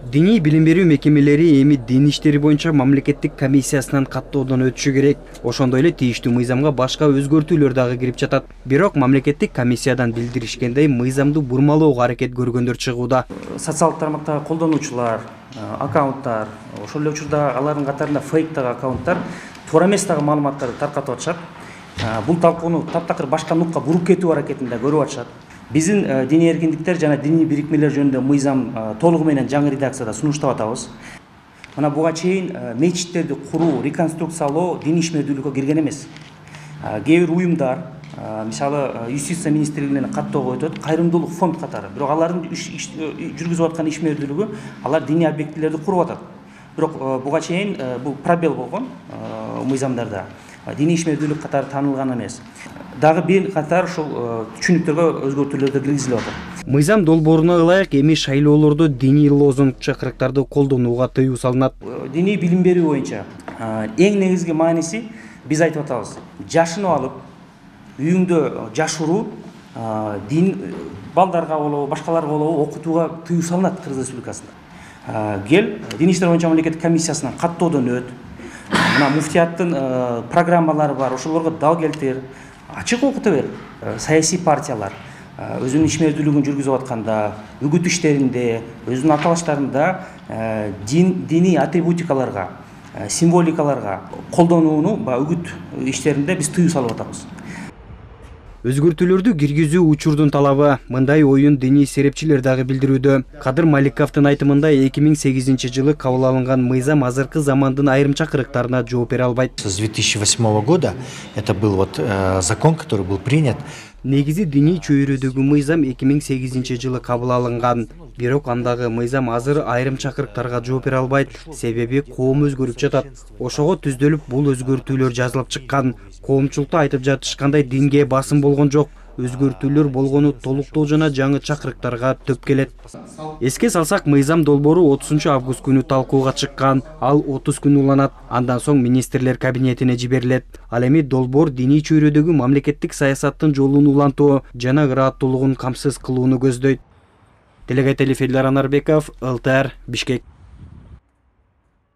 Диний билим берүү мекемелери эми дин иштери боюнча мамлекеттик комиссиясынан каттоодон өтүшү керек. Ошондой эле тийиштүү мыйзамга башка өзгөртүүлөр дагы кирип жатат. Бирок мамлекеттик комиссиядан билдиришкендей, мыйзамды бурмалоого аракет көргөндөр чыгууда. Социалдык тармактагы колдонуучулар, аккаунттар, ошол эле учурда алардын катарында фейктагы аккаунттар туура эмес дагы маалыматтарды таркатып атышат. Бул талкууну таптакыр башка нукка буруп кетүү аракетинде көрүп атышат. Биздин диний эркиндиктер жана диний бирикмелер жөнүндө мыйзам толугу менен жаңы редакцияда сунуштап атабыз. Мына буга чейин мечиттерди куруу, реконструкциялоо диний ишмердүүлүккө кирген эмес. Кээ бир уюмдар, мисалы юстиция министрлигинен каттоого өтөт, кайрымдуулук фонд катары. Бирок алардын жүргүзүп аткан ишмердүүлүгү алар диний объектилерди куруп атат. Бирок буга чейин бул пробел болгон мыйзамдарда. Диний ишмердүүлүк катары таанылган эмес. Дагы бир катар ушул түшүнүктөргө өзгөртүүлөрдү киргизилип атат. Мыйзам долбооруна ылайык эми шайлоолордо диний лозунг чакырыктарды колдонууга тыюу салынат. Диний билим берүү боюнча эң негизги мааниси биз айтып атабыз. Жашынып алып, үйүңдө жашыруу дин балдарга болобу, башкаларга болобу окутууга тыюу салынат Кыргыз Республикасында. Кел дин иштер боюнча мамлекеттик комиссиясынан каттоодон өт. Мына муфтияттын программалары бар, ошолорго дал келтир. Ачык окута бер. Саясий партиялар өзүнүн ишмердүүлүгүн жүргүзүп атканда, үгүт иштеринде, өзүнүн аталыштарында диний атрибутикаларга, символикаларга колдонууну үгүт иштеринде биз тыюу салып атабыз. Өзгөртүүлөрдү киргизүү учурдун талабы. Мындай оюн диний серепчилер дагы билдирүүдө. Кадыр Маликовдун айтымында 2008 жылы кабыл алынган мыйзам азыркы замандын айрым чакырыктарына жооп бере албайт. С 2008 года это был закон, который был принят. Негизи диний чөйрөдөгү мыйзам 2008 жылы кабыл алынган. Бирок андагы мыйзам азыр айрым чакырыктарга жооп бере албайт, себеби коом өзгөрүп жатат. Ошого түздөлүп бул өзгөртүүлөр жазылып чыккан. Коомчулукта айтып жатышкандай динге басым болгон жок. Өзгөртүүлөр болгону толуктоо жана жаңы чакырыктарга төп келет. Эске салсак, мыйзам долбоору 30 август күнү талкууга чыккан. Ал 30 күн уланат. Андан соң министрлер кабинетине жиберилет. Ал эми долбоор диний чөйрөдөгү мамлекеттик саясаттын жолун улантуу жана ырааттуулугун камсыз кылууну көздөйт. Делегат Элиф Анарбеков, ЛТР, Бишкек.